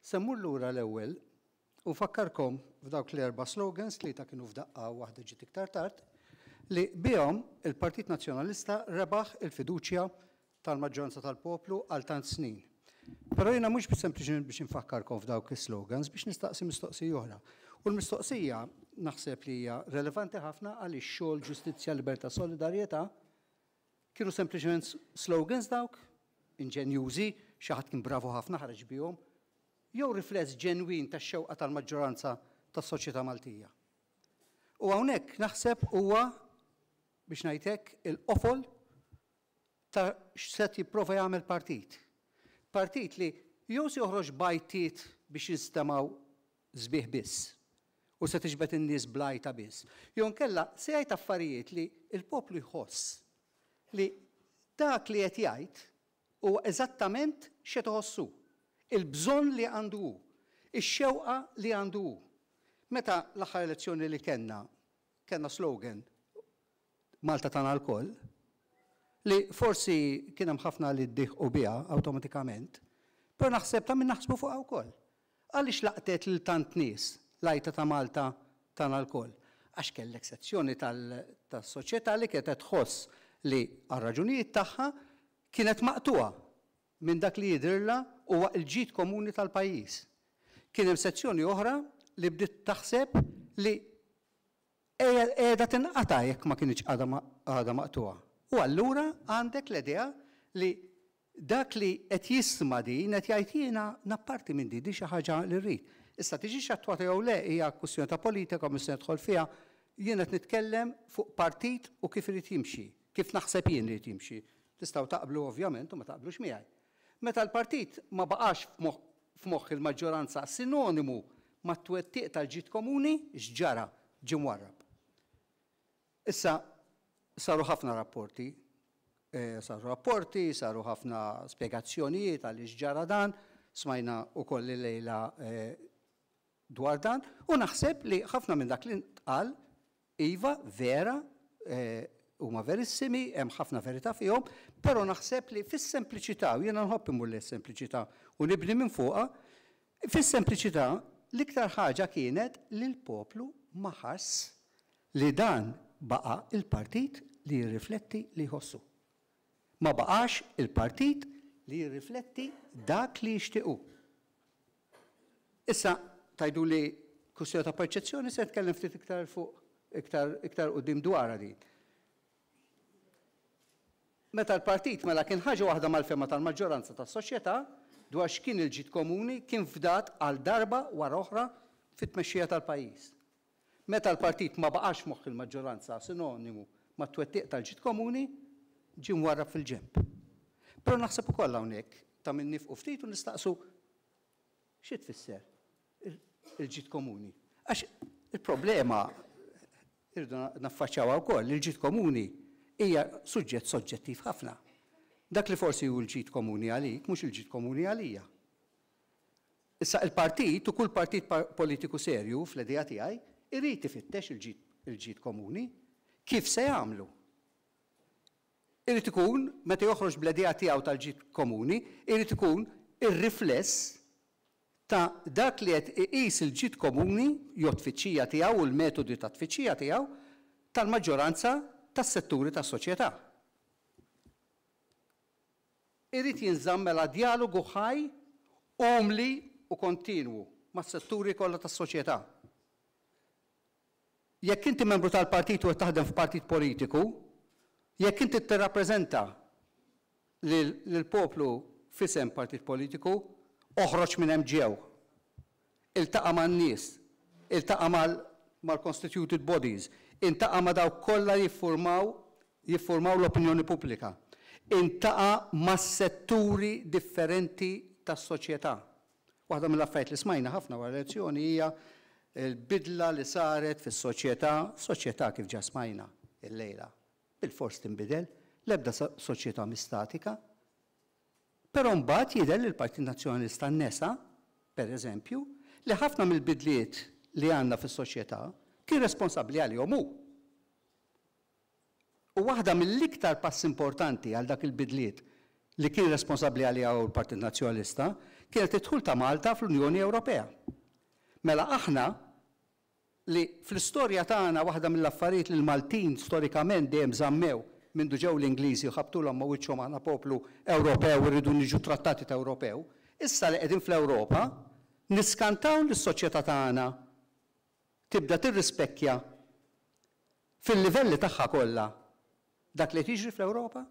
Se mmur lura l-ewwel u nfakkarkom f'dawk l-erba' slogans, tlieta kienu f'daqqa u waħda ġiet iktar tard, li bihom il-Partit Nazzjonalista rebaħ il-fiduċja tal-maġġoranza tal-poplu għal tant snin. Però jiena mhux sempliċement biex infakkarkom f'dawk is-slogans, biex nistaqsi mistoqsija oħra. U l-mistoqsija naħseb li hija relevanti ħafna għaliex xogħol, ġustizzja, libertà, solidarjetà kienu sempliċement slogans dawk, inġenjużi, xi ħadd kien bravu ħafna ħareġ bihom, jew rifless ġenwin tax-xewqa tal-maġġoranza tas-soċjetà Maltija. U hawnhekk naħseb huwa biex ngħid hekk il-qofol ta' x'se jipprova jagħmel partit. Partit li jew se joħroġ b'għajtiet biex jinstemgħu sbieħ biss u se tiġbed in-nies bl-għajta biss. Jew inkella se jgħid affarijiet li l-poplu jħoss li dak li qed jgħid huwa eżattament x'qed iħossu, il-bżonn li għandu hu, ix-xewqa li għandu hu. Meta l-aħħar elezzjoni li kellna, kellna slogan Malta tagħna lkoll, li forsi kien hemm ħafna li ddieħqu biha awtomatikament, però naħseb ta' min naħsbu fuqha wkoll. Għaliex laqtet lil tant nies l-għajta ta' Malta tagħna lkoll? Għax kellek sezzjoni tas-soċjetà li kienet qed tħoss li għal raġunijiet tagħha kienet maqtugħa minn dak li jidhirlha huwa l-ġid komuni tal-pajjiż. Kien hemm sezzjoni oħra li bdiet taħseb li qiegħda tinqata' jekk ma kinitx għadha maqtugħa. U allura għandek l-idea li dak li qed jisma' din qed jgħid jiena napparti minn din, din xi ħaġa li rrid. Issa tiġix attwata jew le hija kwistjoni ta' politika u mhux se nidħol fiha, jien qed nitkellem fuq partit u kif irid jimxi, kif naħseb jien li jrid jimxi. Tistgħu taqblu ovvjament u ma taqblux miegħi. Meta l-partit ma baqax f'moħħ il-maġġoranza sinonimu mat-twettiq tal-ġid komuni, x'ġara? Ġie mwarrab. Issa saru ħafna rapporti, saru rapporti, saru ħafna spjegazzjonijiet għaliex ġara dan, smajna wkoll illejla dwar dan, u naħseb li ħafna minn dak li ntqal iva vera, huma verissimi, hemm ħafna verità fihom, però naħseb li fis-sempliċità, u jiena nħobb immur lejn is-sempliċità u nibni minn fuqha, fis-sempliċità l-iktar ħaġa kienet li l-poplu ma ħass li dan baqa' il-partit li jirrifletti li jħossu. Ma baqax il-partit li jirrifletti dak li jixtieq hu. Issa, tgħiduli kwistjoni ta' perċezzjoni, se nitkellem ftit iktar fuq iktar iktar quddiem dwarha din. Meta l-partit mela kien ħaġa waħda mal-fehma tal-maġġoranza tas-soċjetà dwar x'kien il-ġid komuni kien fdat għal darba wara oħra fit-tmexxija tal-pajjiż. Meta l-partit ma baqax f'moħħ il-maġġoranza sinonimu mat-twettiq tal-ġid komuni, ġie mwarrab fil-ġenb. Però naħseb ukoll hawnhekk ta' min nifqu ftit u nistaqsu xi tfisser il-ġid komuni. Għax il-problema irridu naffaċċjawha wkoll, il-ġid komuni hija suġġett soġġettiv ħafna. Dak li forsi hu l-ġid komuni għalik mhux il-ġid komuni għalija. Issa il-partit u kull partit politiku serju fl-idea tiegħi irid ifittex il-ġid komuni. Kif se jagħmlu? Irid ikun, meta joħroġ bl-idea tiegħu tal-ġid komuni, irid ikun ir-rifless ta' dak li qed iqis il-ġid komuni jew t-tfittxija tiegħu u l-metodi ta' tfittxija tiegħu tal-maġġoranza tas-setturi tas-soċjetà. Irid jinżamm mela djalogu ħaj, umli u kontinwu mas-setturi kollha tas-soċjetà. Jekk inti membru tal-partit u qed taħdem f'partit politiku, jekk inti tirrappreżenta lill-poplu f'isem partit politiku, oħroġ minn hemm ġew. Iltaqa' man-nies, iltaqa' mal-constituted bodies, iltaqa' ma' dawk kollha li jiffurmaw jiffurmaw l-opinjoni pubblika, iltaqa' mas-setturi differenti tas-soċjetà. Waħda mill-affarijiet li smajna ħafna wara l-elezzjoni hija l-bidla li saret fis-soċjetà, soċjetà kif ġa smajna illejla, bilfors tinbidel, l-ebda soċjetà mhi statika. Però mbagħad jidher li l-Partit Nazzjonalista nesa, per eżempju, li ħafna mill-bidliet li għandna fis-soċjetà kien responsabbli għalihom hu. U waħda mill-iktar passi importanti għal dak il-bidliet li kien responsabbli għaliha hu l-Partit Nazzjonalista, kienet id-dħul ta' Malta fl-Unjoni Ewropea. Mela aħna li fl-istorja tagħna waħda mill-affarijiet li l-Maltin storikament dejjem żammew mindu ġew l-Ingliżi u ħabtulhom ma' wiċċhom aħna poplu Ewropew u rridu niġu trattati ta' Ewropew, issa li qegħdin fl-Ewropa niskantaw li s-soċjetà tagħna tibda tirrispekkja fil-livelli tagħha kollha dak li qed jiġri fl-Ewropa?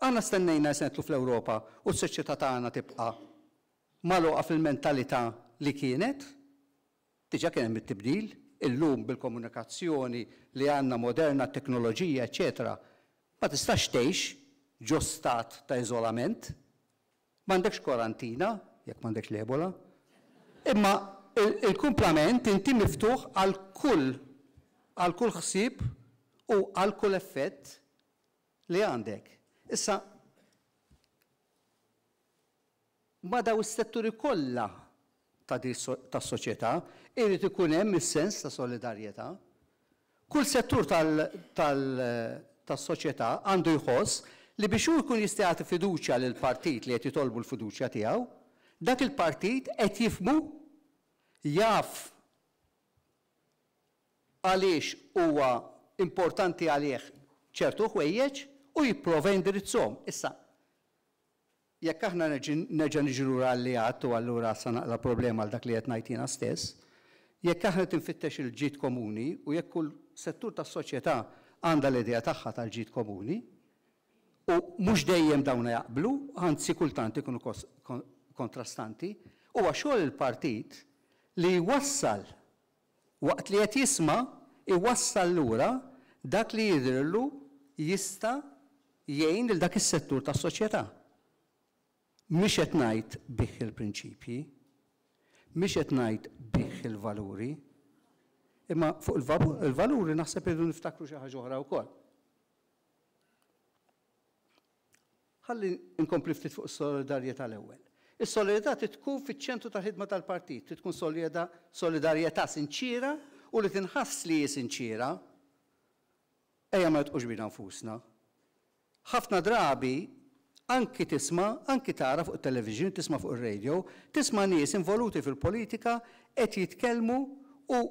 Aħna stennejna li se nidħlu fl-Ewropa u s-soċjetà tagħna tibqa' magħluqa fil-mentalità li kienet? Diġà kien hemm it-tibdil, illum bil-komunikazzjoni li għandna moderna, t-teknoloġija, eċċetera, ma tistax tgħix ġo stat ta' iżolament. M'għandekx kwarantina, jekk m'għandekx l-Ebola. Imma il-kumplament inti miftuħ għal kull għal kull ħsieb u għal kull effett li għandek. Issa, ma' dawn is-setturi kollha ta' tas-soċjetà irid ikun hemm is-sens ta' solidarjetà. Kull settur tas-soċjetà għandu jħoss li biex hu jkun jista' jagħti fiduċja lill-partit li qed jitolbu l-fiduċja tiegħu, dak il-partit qed jifhmu, jaf għaliex huwa importanti għalih ċertu ħwejjeġ u jipprova jindirizzhom. Issa, Jekk aħna nerġa' niġi lura għal li għedt u allura sa naqla' problema għal dak li qed ngħid jiena stess, jekk aħna qed infittex il-ġid komuni u jekk kull settur tas-soċjetà għandha l-idea tagħha tal-ġid komuni, u mhux dejjem dawn jaqblu, anzi kultant ikunu kontrastanti, huwa xogħol il-partit li jwassal, waqt li qed jisma', iwassal lura dak li jidhirlu jista' jgħin lil dak is-settur tas-soċjetà. Mhix qed ngħid bigħ il-prinċipji, mhix qed ngħid bigħ il-valuri, imma fuq il-valuri naħseb irridu niftakru xi ħaġa oħra wkoll. Ħalli nkompli ftit fuq is-solidarjetà l-ewwel. Is-solidarjetà trid tkun fiċ-ċentru tal-ħidma tal-partit, trid tkun solidarjetà sinċiera u li tinħass li hi sinċiera. Ejja ma nidħqux bina nfusna. Ħafna drabi anki tisma', anki tara fuq it-television, tisma' fuq ir-radio, tisma' nies involuti fil-politika qed jitkellmu u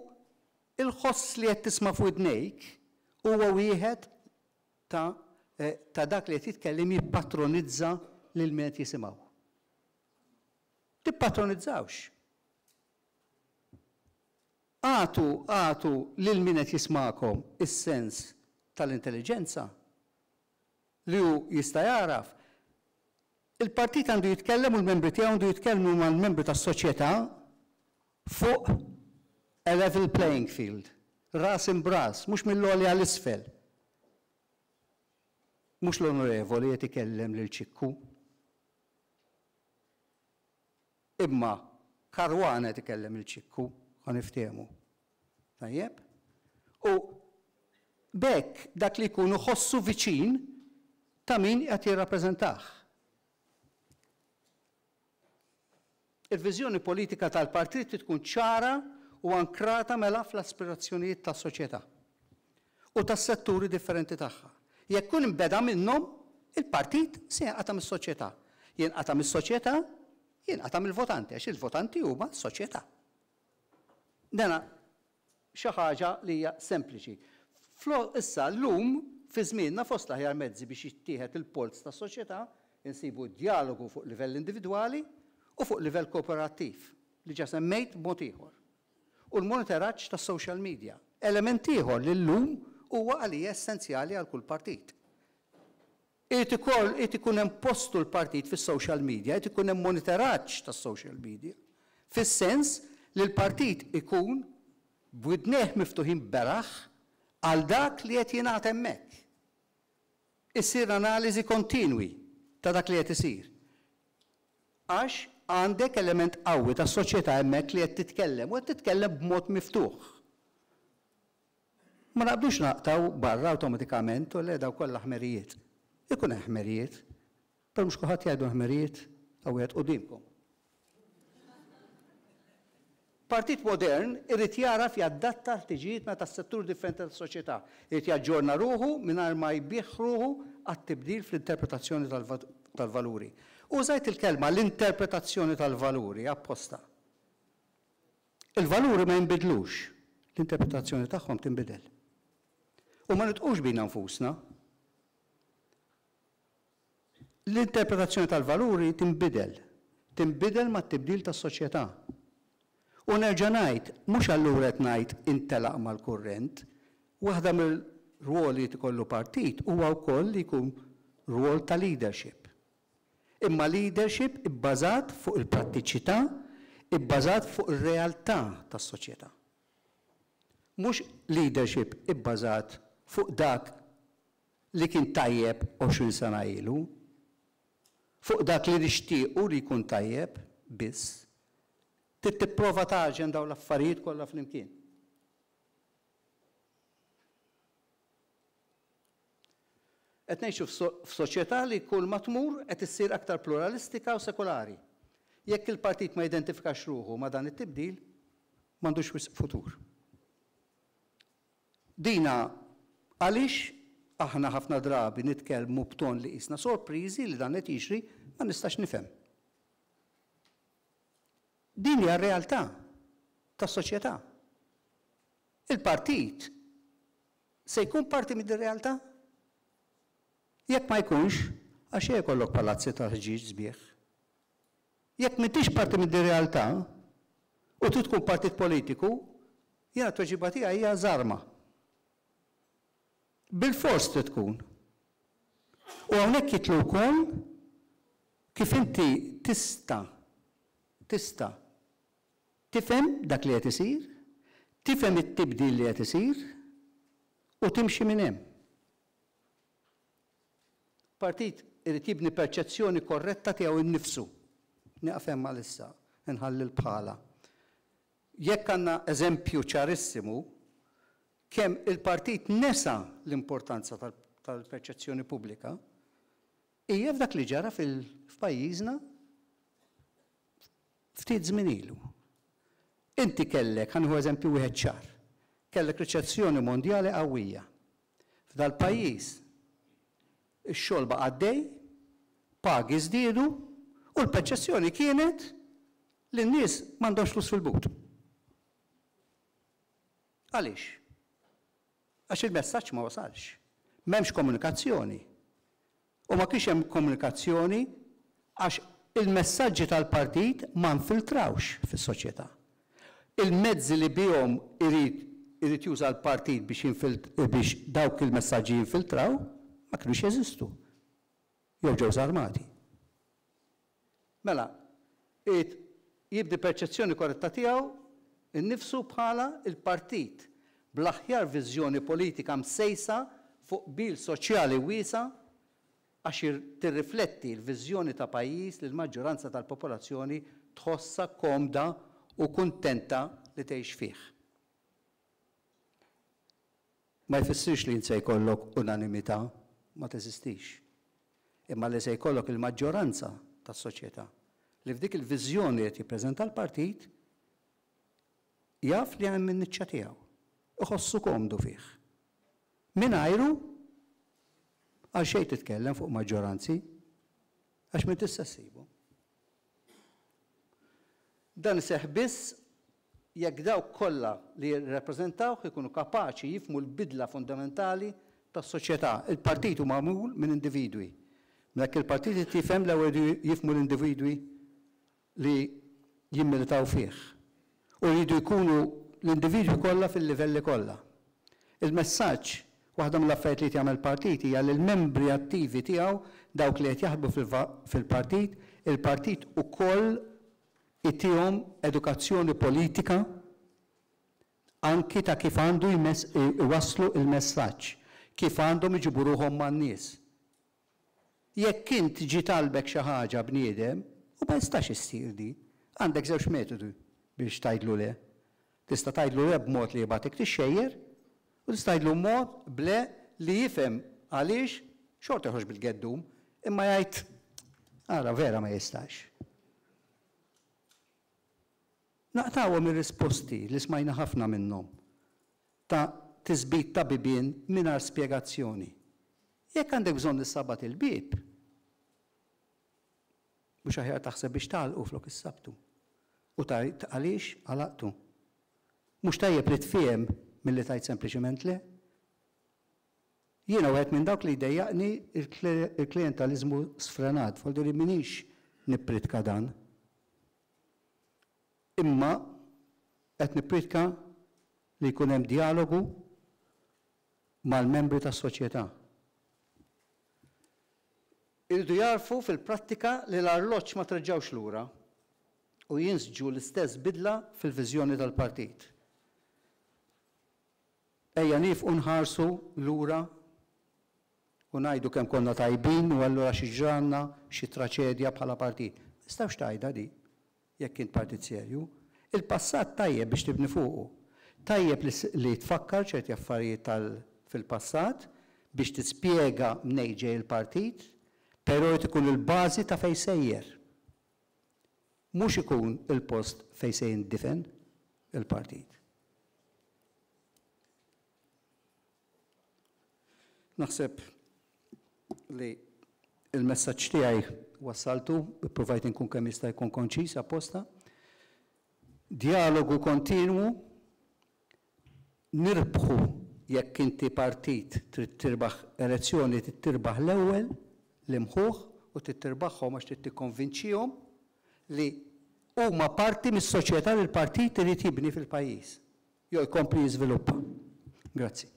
l-ħoss li qed tisma' f'widnejk huwa wieħed ta' ta' dak li qed jitkellem jippatronizza lil min qed jisimgħu. Tippatronizzawx. Agħtu agħtu lil min qed jismagħkom is-sens tal-intelliġenza li hu jista' jagħraf. Il-partit għandu jitkellem u l-membri tiegħu għandu jitkellmu mal-membri tas-soċjetà fuq a level playing field, ras imb'ras, mhux mill-għoli għal isfel. Mhux l-Onorevoli qed ikellem lil Ċikku. Imma Caruana qed ikellem lil Ċikku, ħa niftehmu. Tajjeb? U b'hekk dak li jkun iħossu viċin ta' min qed jirrappreżentah. Il-viżjoni politika tal-partit trid tkun ċara u ankrata mela fl-aspirazzjonijiet tas-soċjetà u tas-setturi differenti tagħha. Jekk ikun imbeda minnhom, il-partit se jinqata' mis-soċjetà. Jinqata' mis-soċjetà, jinqata' mill-votanti għax il-votanti huma s-soċjetà. Dana xi ħaġa li hija sempliċi. Issa llum fi żmienna fost l-aħjar mezzi biex jittieħed il-polz tas-soċjetà insibu d-djalogu fuq livell individwali u fuq livell kooperattiv, li ġa semmejt b'mod ieħor, u l-monitoraġġ tas-social media, element ieħor li llum huwa għalija essenzjali għal kull partit. Irid ukoll irid ikun hemm postu l-partit fis-social media, irid ikun hemm monitoraġġ tas-social media, fis-sens li l-partit ikun b'widnejh miftuħin beraħ għal dak li qed jingħad hemmhekk. Issir analiżi kontinwi ta' dak li qed isir. Għax għandek element qawwi tas-soċjetà hemmhekk li qed titkellem u qed titkellem b'mod miftuħ. Ma naqbdux naqtgħu barra awtomatikament u le dawk kollha ħmerijiet. Ikun hemm ħmerijiet, però mhux kulħadd jgħidu ħmerijiet, hawn wieħed quddiemkom. Partit modern irid jagħraf jadatta l-ħtiġijiet meta tas-settur differenti tas-soċjetà. Irid jaġġorna ruħu mingħajr ma jbigħ ruħu għat-tibdil fl-interpretazzjoni tal-valuri. Użajt il-kelma l-interpretazzjoni tal-valuri apposta. Il-valuri ma jinbidlux, l-interpretazzjoni tagħhom tinbidel. U ma nidħqux bina nfusna. L-interpretazzjoni tal-valuri tinbidel, tinbidel mat-tibdil tas-soċjetà. U nerġa' ngħid, mhux allura qed ngħid intelaq mal-kurrent, waħda mir-rwoli li ikollu partit huwa wkoll li jkun rwol ta' leadership. Imma leadership ibbażat fuq il-prattiċità, ibbażat fuq ir-realtà tas-soċjetà. Mhux leadership ibbażat fuq dak li kien tajjeb 20 sena ilu, fuq dak li nixtiequ li jkun tajjeb biss. Trid tipprova tagħġen dawn l-affarijiet kollha flimkien. Qed ngħixu f'soċjetà li kull ma tmur qed issir aktar pluralistika u sekulari. Jekk il-partit ma jidentifikax ruħu ma' dan it-tibdil, m'għandux wisq futur. Dina għaliex aħna ħafna drabi nitkellmu b'ton li qisna sorpriżi li dan qed jiġri, ma nistax nifhem. Din hija r-realtà tas-soċjetà. Il-partit se jkun parti minn din realtà? Jekk ma jkunx, għax jkollok palazzi ta' ħġieġ sbieħ. Jekk m'intix parti minn din realtà u trid tkun partit politiku, jiena t-tweġiba tiegħi hija żarma. Bilfors trid tkun. U hawnhekk jidħlu wkoll kif inti tista' tista' tifhem dak li qed isir, tifhem it-tibdil li qed isir u timxi minn hemm. Partit irid jibni perċezzjoni korretta tiegħu nnifsu. Nieqaf hemm għalissa, inħalli l-bħala. Jekk għandna eżempju ċarissimu kemm il-partit nesa l-importanza tal-perċezzjoni pubblika, hija f'dak li ġara f'pajjiżna ftit żmien ilu. Inti kellek, ħa nieħu eżempju wieħed ċar, kellek riċessjoni mondjali qawwija. F'dal-pajjiż ix-xogħol baqa' għaddej, pagi żdiedu u l-perċezzjoni kienet li n-nies m'għandhomx flus fil-but. Għaliex? Għax il-messaġġ ma wasalx. M'hemmx komunikazzjoni. U ma kienx hemm komunikazzjoni għax il-messaġġi tal-partit ma nfiltrawx fis-soċjetà. Il-mezzi li bihom irid irid juża l-partit biex biex dawk il-messaġġi jinfiltraw ma kinux jeżistu. Jew ġew żarmati. Mela, irid jibni perċezzjoni korretta tiegħu nnifsu bħala l-partit bl-aħjar viżjoni politika msejsa fuq qbil soċjali wiesa' għax tirrifletti l-viżjoni ta' pajjiż li l-maġġoranza tal-popolazzjoni tħossha komda u kuntenta li tgħix fih. Ma jfissirx li int se jkollok unanimità, ma teżistix. Imma li se jkollok il-maġġoranza tas-soċjetà li f'dik il-viżjoni li qed jippreżenta l-partit jaf li hemm in-niċċa tiegħu, iħossu komdu fih. Mingħajru għal xejn titkellem fuq maġġoranzi għax m'intix se ssibu. Dan iseħħ biss jekk dawk kollha li jirrappreżentawh ikunu kapaċi jifhmu l-bidla fundamentali tas-soċjetà. Il-partit hu magħmul minn individwi. Mela jekk il-partit irid jifhem l-ewwel iridu jifhmu l-individwi li jimmilitaw fih. U jridu jkunu l-individwi kollha fil-livelli kollha. Il-messaġġ, waħda mill-affarijiet li jrid jagħmel partit hija li l-membri attivi tiegħu, dawk li qed jaħdmu fil-partit, il-partit ukoll itihom edukazzjoni politika anki ta' kif għandu jwasslu l-messaġġ, kif għandhom iġibu ruħhom man-nies. Jekk int ġie talbek xi ħaġa bniedem, u ma jistax issir di, għandek żewġ metodi biex tgħidlu le. Tista' tgħidlu le b'mod li jibgħatek tixxejjer, u tista' tgħidlu mod b'le li jifhem għaliex xorta joħroġ bil-geddum, imma jgħid ara vera ma jistax. Naqtgħuhom ir-risposti li smajna ħafna minnhom ta' tisbit ta' bibien mingħajr spjegazzjoni. Jekk għandek bżonn issabbat il-bieb, Mhux aħjar taħseb biex tagħlqu flok issabtu. U tgħid għaliex għalaqtu. Mhux tajjeb li tfiehem milli tgħid sempliċement le? Jiena wieħed minn dawk li jdejjaqni l-klijentaliżmu sfrenat, voldiri m'iniex nippritka dan. Imma qed nippritka li jkun hemm djalogu mal-membri tas-soċjetà. Iridu jagħrfu fil-prattika li l-arloġġ ma treġġgħux lura u jinsġu l-istess bidla fil-viżjoni tal-partit. Ejja niefqu nħarsu lura u ngħidu kemm konna tajbin u allura xi ġralna xi traċedja bħala partit. Ma tistgħux tgħidha di jekk int partit serju. Il-passat tajjeb biex tibni fuqu. Tajjeb li tfakkar ċerti affarijiet tal fil-passat biex tispjega mnejn ġej il-partit, però jrid ikun il-bażi ta' fejn sejjer. Mhux ikun il-post fejn se jindifen il-partit. Naħseb li il-messaġġ tiegħi wassaltu, ippruvajt inkun kemm jista' jkun konċis apposta. Djalogu kontinwu, nirbħu jekk inti partit trid tirbaħ elezzjoni trid tirbaħ l-ewwel l-imħuħ u trid tirbaħhom għax trid tikkonvinċihom li huma parti mis-soċjetà li l-partit irid jibni fil-pajjiż jew jkompli jiżviluppa. Grazzi.